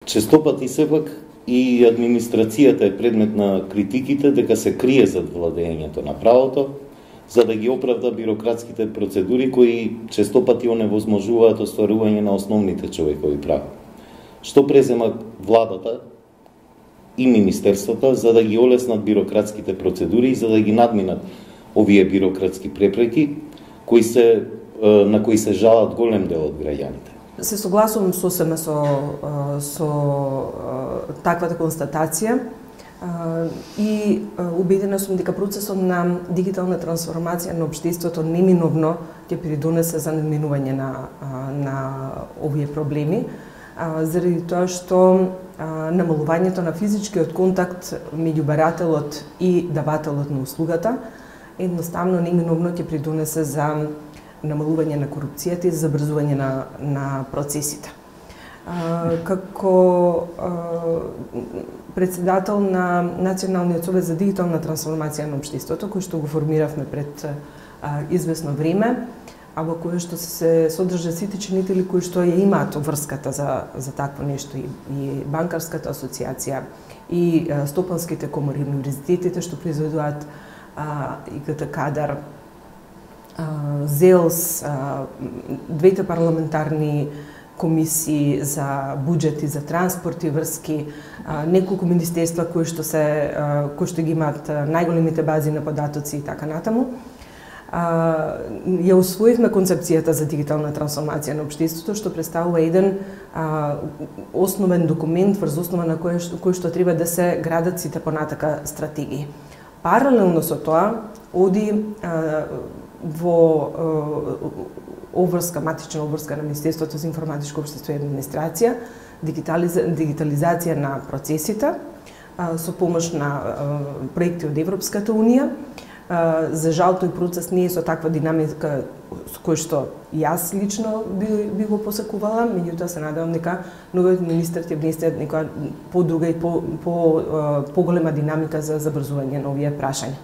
Честопати сепак и администрацијата е предмет на критиките дека се крие зад владењето на правото, за да ги оправда бирократските процедури кои честопати оневозможуваат остварување на основните човекови права. Што презема владата и министерствата за да ги олеснат бирократските процедури и за да ги надминат овие бирократски препреки на кои се жалат голем дел од граѓаните? Се согласувам сосема со таквата констатација и убедена сум дека процесот на дигитална трансформација на општеството неминовно ќе придонесе за надминување на овие проблеми, заради тоа што намалувањето на физичкиот контакт меѓу барателот и давателот на услугата едноставно неминовно ќе придонесе за намалување на корупцијата и забрзување на процесите. Како председател на Националниот совет за дигитална трансформација на општеството, кој што го формиравме пред извесно време, а во кој што се содржат сите чинители кои што ја имаат врската за такво нешто, и банкарската асоциација, и стопанските комори, универзитетите што произведуваат ИКТ кадар, ЗЕЛС, двете парламентарни комисии за буџет и за транспорт и врски, неколку министерства кои што ги имаат најголемите бази на податоци и така натаму. Ја усвоивме концепцијата за дигитална трансформација на општеството, што представува еден основен документ врз основа на кој што треба да се градат сите понатака стратегии. Паралелно со тоа, оди во матична обврска на Министерството за информатичко општество и администрација, дигитализација на процесите со помош на проекти од Европската унија. За жал тој процес не е со таква динамика со кој што јас лично би го посекувала, меѓутоа се надевам дека новиот министер ќе внесе некоја подруга и поголема динамика за забрзување на овие прашања.